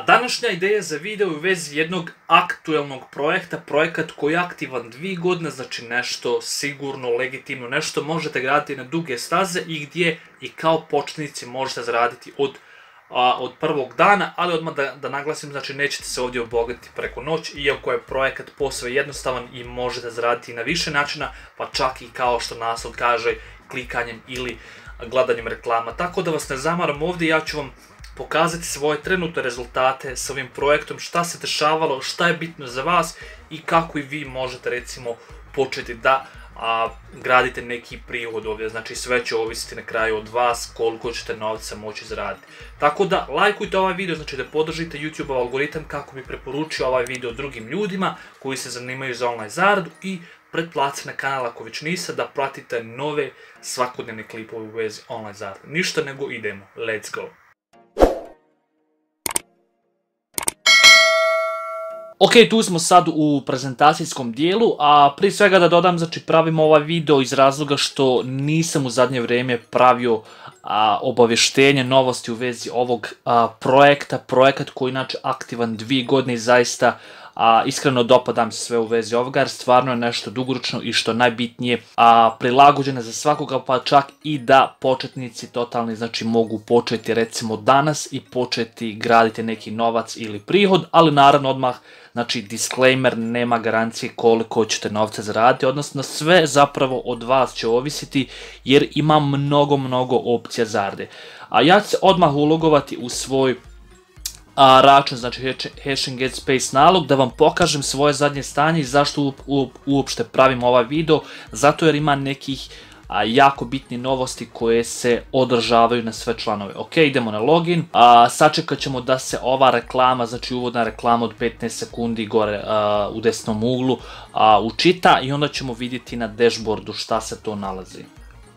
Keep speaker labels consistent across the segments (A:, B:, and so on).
A: Današnja ideja za video je u vezi jednog aktuelnog projekta, projekat koji je aktivan 2 godine, znači nešto sigurno, legitimno, nešto možete graditi na duge staze i gdje i kao početnici možete zaraditi od prvog dana, ali odmah da naglasim, znači nećete se ovdje obogatiti preko noć, iako je projekat posve jednostavan i možete zaraditi na više načina, pa čak i kao što naslov kaže, klikanjem ili gledanjem reklama. Tako da vas ne zamaram ovdje, ja ću vam pokazati svoje trenutne rezultate s ovim projektom, šta se dešavalo, šta je bitno za vas i kako i vi možete recimo početi da gradite neki prihod ovdje. Znači sve će ovisiti na kraju od vas koliko ćete novca moći zaraditi. Tako da lajkujte ovaj video, znači da podržite YouTube algoritam kako bi preporučio ovaj video drugim ljudima koji se zanimaju za online zaradu i pretplatite na kanal ako već niste, da pratite nove svakodnevne klipove u vezi online zarade. Ništa nego idemo, let's go! Ok, tu smo sad u prezentacijskom dijelu, a prije svega da dodam, znači pravim ovaj video iz razloga što nisam u zadnje vrijeme pravio obavještenje, novosti u vezi ovog projekta, projekat koji je inače aktivan 2 godine i zaista iskreno dopadam se sve u vezi ovoga jer stvarno je nešto dugoročno i što najbitnije prilagođeno za svakoga, pa čak i da početnici totalni znači mogu početi recimo danas i početi graditi neki novac ili prihod, ali naravno odmah znači disclaimer, nema garancije koliko ćete novca zaraditi, odnosno sve zapravo od vas će ovisiti jer ima mnogo opcija zarade. Ja ću se odmah ulogovati u svoj račun, znači Hashing Get Space nalog, da vam pokažem svoje zadnje stanje i zašto uopšte pravim ovaj video, zato jer ima nekih jako bitne novosti koje se održavaju na sve članove. Ok, idemo na login, sačekat ćemo da se ova reklama, znači uvodna reklama od 15 sekundi gore u desnom uglu učita i onda ćemo vidjeti na dashboardu šta se to nalazi.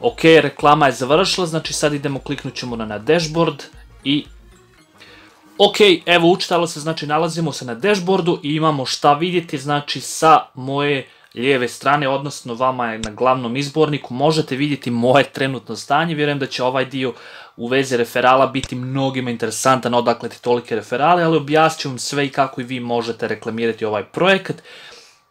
A: Ok, reklama je završila, znači sad idemo, kliknut ćemo na dashboard i ok, evo učitalo se, znači nalazimo se na dashboardu i imamo šta vidjeti, znači sa moje lijeve strane, odnosno vama je na glavnom izborniku, možete vidjeti moje trenutno stanje. Vjerujem da će ovaj dio u vezi referala biti mnogima interesantan, odakle ti tolike referale, ali objasnit ću vam sve i kako i vi možete reklamirati ovaj projekat.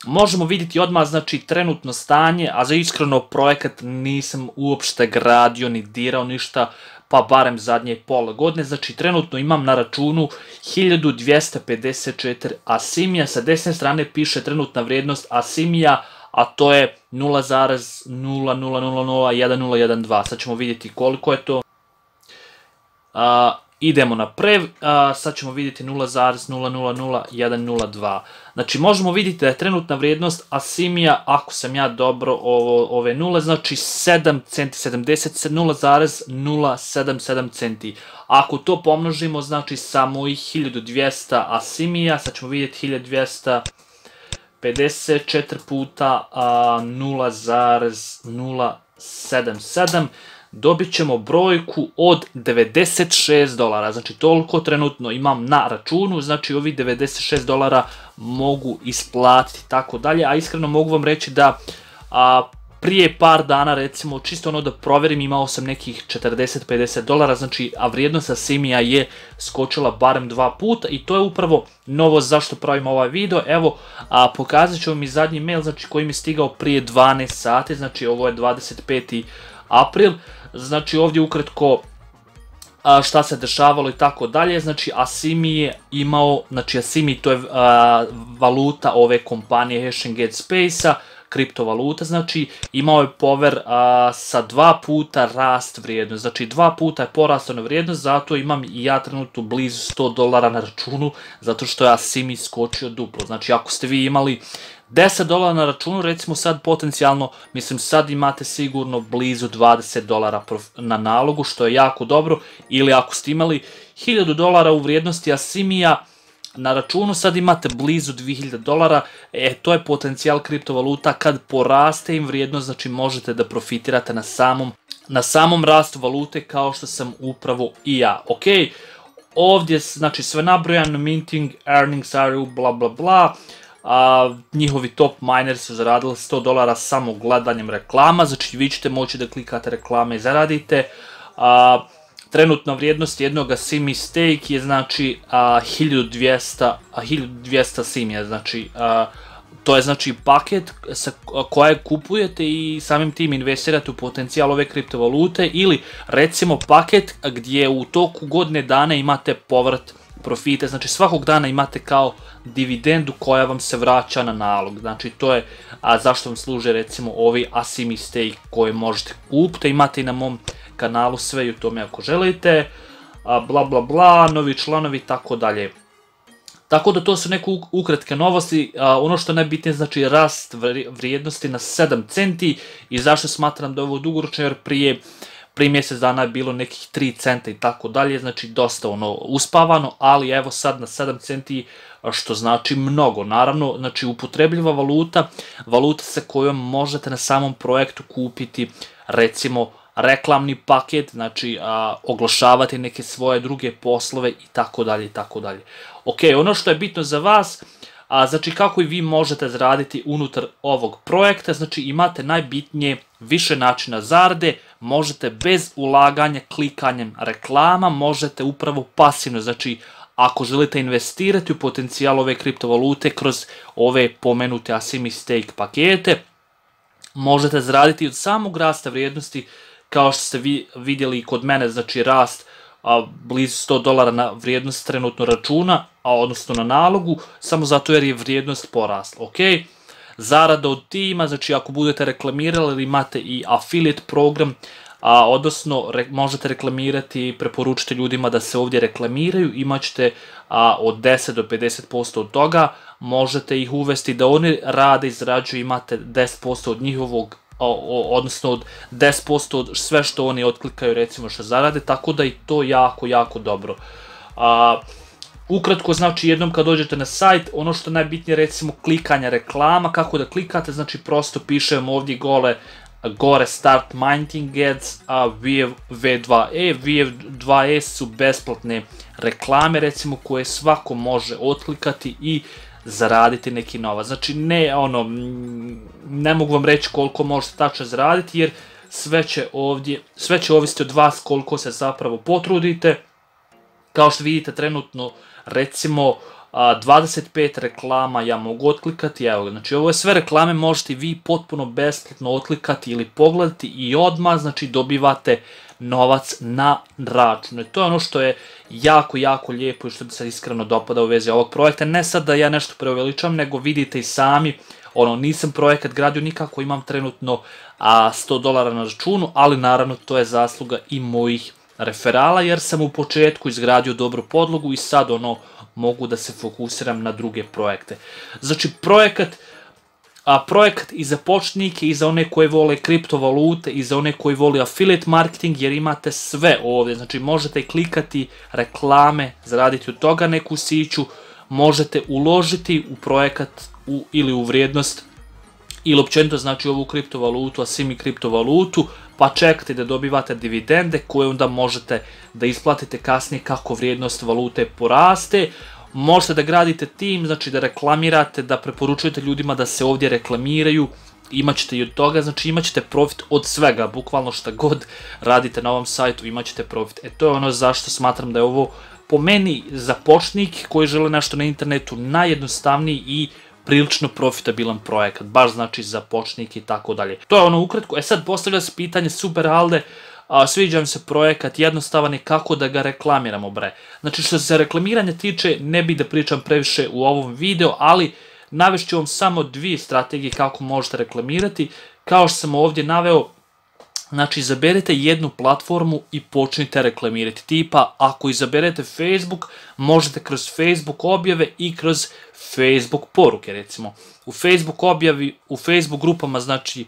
A: Možemo vidjeti odmah znači trenutno stanje, a za iskreno projekat nisam uopšte gradio ni dirao ništa, pa barem zadnje pola godine, znači trenutno imam na računu 1254 asimija, sa desne strane piše trenutna vrijednost asimija, a to je 0,00001012, sad ćemo vidjeti koliko je to. Idemo na prev, sad ćemo vidjeti 0,000102. Znači možemo vidjeti da je trenutna vrijednost asimija, ako sam ja dobro ove nule, znači 7 centi, 0,077 centi. Ako to pomnožimo, znači sa mojih 1200 asimija, sad ćemo vidjeti 1254 puta 0,077, dobit ćemo brojku od $96, znači toliko trenutno imam na računu, znači ovih $96 mogu isplatiti tako dalje, a iskreno mogu vam reći da prije par dana recimo čisto ono da provjerim imao sam nekih $40-50, znači a vrijednost asimija je skočila barem 2 puta i to je upravo novost zašto pravim ovaj video. Evo pokazat ću vam i zadnji mail znači koji mi je stigao prije 12 sati, znači ovo je 25. april, znači ovdje ukratko šta se dešavalo i tako dalje. Znači Asimi je imao, znači Asimi to je valuta ove kompanije Hashing Get Space-a, kriptovaluta, znači imao je power sa 2 puta rast vrijednost, znači 2 puta je porastao na vrijednost, zato imam i ja trenutno blizu $100 na računu, zato što je Asimi skočio duplo. Znači ako ste vi imali $10 na računu, recimo sad potencijalno, mislim sad imate sigurno blizu $20 na nalogu, što je jako dobro, ili ako ste imali $1000 u vrijednosti Asimija na računu, sad imate blizu $2000, to je potencijal kriptovaluta, kad poraste im vrijednost, znači možete da profitirate na samom rastu valute kao što sam upravo i ja. Ok, ovdje znači sve nabrojano, minting, earnings are bla bla bla, njihovi top miners su zaradili $100 samo gledanjem reklama, znači vi ćete moći da klikate reklame i zaradite. trenutna vrijednost jednog simi stake je znači 1200 simija, znači to je znači paket kojeg kupujete i samim tim investirate u potencijal ove kriptovalute, ili recimo paket gdje u toku godine dana imate povrat profite, znači svakog dana imate kao dividendu koja vam se vraća na nalog, znači to je zašto vam služe recimo ovi asimi stake koje možete kupiti, imate i na mom kanalu sve i u tome ako želite, bla bla bla, novi članovi i tako dalje. Tako da to su neke ukratke novosti, ono što je najbitnije znači rast vrijednosti na 7 centi i zašto smatram da je ovo dugoročno, jer prije mjesec dana je bilo nekih 3 centa i tako dalje, znači dosta uspavano, ali evo sad na 7 centi što znači mnogo. Naravno, znači upotrebljiva valuta sa kojom možete na samom projektu kupiti recimo reklamni paket, znači oglašavati neke svoje druge poslove i tako dalje i tako dalje. Ok, ono što je bitno za vas, znači kako i vi možete zaraditi unutar ovog projekta, znači imate najbitnije više načina zarade, možete bez ulaganja, klikanjem reklama, možete upravo pasivno, znači ako želite investirati u potencijal ove kriptovalute kroz ove pomenute asimi stake pakete, možete zaraditi od samog rasta vrijednosti, kao što ste vidjeli kod mene, znači rast blizu $100 na vrijednost trenutno računa, odnosno na nalogu, samo zato jer je vrijednost porasla, ok? Zarada od tima, znači ako budete reklamirali ili imate i affiliate program, odnosno možete reklamirati i preporučiti ljudima da se ovdje reklamiraju, imat ćete od 10 do 50% od toga, možete ih uvesti da oni rade i zarađuju, imate 10% od njihovog, odnosno od 10% od sve što oni otklikaju recimo što zarade, tako da i to jako, jako dobro. Ukratko, znači jednom kad dođete na sajt, ono što je najbitnije recimo klikanja reklama, kako da klikate, znači prosto pišem ovdje gore start minting ads, V2E. V2E su besplatne reklame recimo koje svako može otklikati i zaraditi neki novac. Znači ne mogu vam reći koliko možete tačno zaraditi jer sve će ovisiti od vas koliko se zapravo potrudite. Kao što vidite trenutno recimo 25 reklama ja mogu otklikati, evo, znači ovo je sve reklame, možete vi potpuno besplatno otklikati ili pogledati i odmah, znači dobivate novac na račun. To je ono što je jako, jako lijepo i što bi se iskreno dopada u vezi ovog projekta. Ne sad da ja nešto preuveličam, nego vidite i sami, nisam projekat gradio nikako, imam trenutno $100 na računu, ali naravno to je zasluga i mojih referala, jer sam u početku izgradio dobru podlogu i sad mogu da se fokusiram na druge projekte. Znači projekat i za početnike i za one koji vole kriptovalute i za one koji vole affiliate marketing, jer imate sve ovdje, znači možete klikati reklame, zaraditi od toga neku siću, možete uložiti u projekat ili u vrijednost ili općenito znači ovu kriptovalutu, asimi kriptovalutu, pa čekate da dobivate dividende koje onda možete da isplatite kasnije kako vrijednost valute poraste. Možete da gradite tim, znači da reklamirate, da preporučujete ljudima da se ovdje reklamiraju, imat ćete i od toga, znači imat ćete profit od svega, bukvalno šta god radite na ovom sajtu imat ćete profit. To je ono zašto smatram da je ovo po meni za početnike koji žele nešto na internetu najjednostavniji i prilično profitabilan projekat, baš znači za početnike i tako dalje. To je ono ukratko. Sad postavlja se pitanje, super Alde, sviđa mi se projekat, jednostavan je, kako da ga reklamiramo bre. Znači što se reklamiranja tiče, ne bih da pričam previše u ovom videu, ali navešću vam samo 2 strategije kako možete reklamirati. Kao što sam ovdje naveo, znači izaberete jednu platformu i počnite reklamirati. Tipa, ako izaberete Facebook, možete kroz Facebook objave i kroz Facebook poruke recimo. U Facebook grupama znači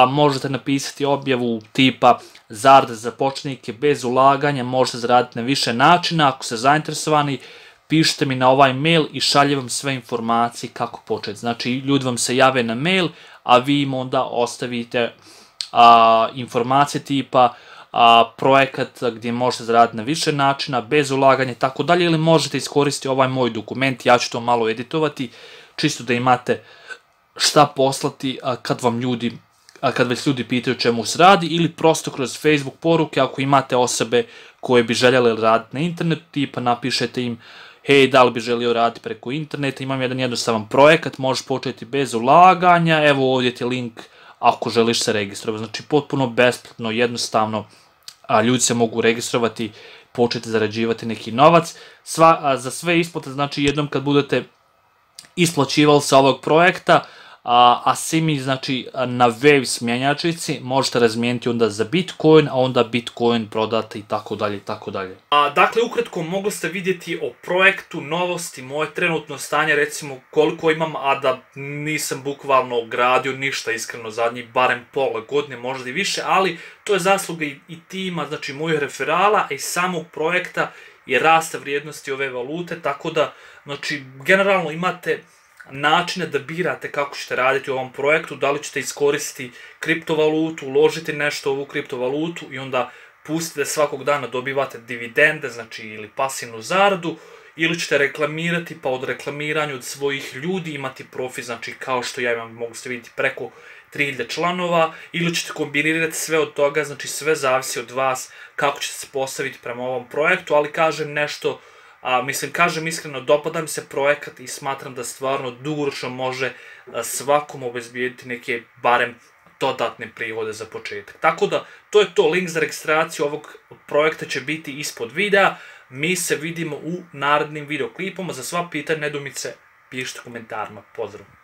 A: možete napisati objavu tipa zarada za početnike bez ulaganja, možete zaraditi na više načina. Ako ste zainteresovani, pišite mi na ovaj mail i šaljem vam sve informacije kako početi. Znači ljudi vam se jave na mail, a vi im onda ostavite informacije tipa projekat gdje možete zaraditi na više načina, bez ulaganja i tako dalje, ili možete iskoristiti ovaj moj dokument, ja ću to malo editovati, čisto da imate šta poslati kad već ljudi pitaju čemu se radi, ili prosto kroz Facebook poruke ako imate osobe koje bi željeli raditi na internetu, tipa napišete im hej, da li bi želio raditi preko interneta, imam jedan jednostavan projekat, možeš početi bez ulaganja, evo ovdje ti je link ako želiš se registrovati. Znači potpuno besplatno, jednostavno, ljudi se mogu registrovati, početi zarađivati neki novac. Za sve isplate, znači jednom kad budete isplaćivali sa ovog projekta, a svi mi, znači, na Waves mjenjačnici možete razmijeniti onda za Bitcoin, a onda Bitcoin prodate i tako dalje i tako dalje. Dakle, ukratko mogli ste vidjeti o projektu, novosti, moje trenutno stanje, recimo koliko imam, a da nisam bukvalno gradio ništa iskreno zadnjih barem pola godine, možda i više, ali to je zasluga i tima, znači mojih referala i samog projekta i rasta vrijednosti ove valute, tako da, znači, generalno imate načine da birate kako ćete raditi u ovom projektu, da li ćete iskoristiti kriptovalutu, uložiti nešto u ovu kriptovalutu i onda pustite svakog dana dobivate dividende, znači ili pasivnu zaradu, ili ćete reklamirati pa od reklamiranja od svojih ljudi imati profit, znači kao što ja imam, mogu ste vidjeti preko 3000 članova, ili ćete kombinirati sve od toga, znači sve zavisi od vas kako ćete se postaviti prema ovom projektu, ali kažem nešto, kažem iskreno, dopada mi se projekat i smatram da stvarno dugoročno može svakom obezbijediti neke barem dodatne prihode za početak. Tako da, to je to, link za registraciju ovog projekta će biti ispod videa, mi se vidimo u narednim videoklipama, za sva pitanja, nedoumice, pišite u komentarima, pozdrav!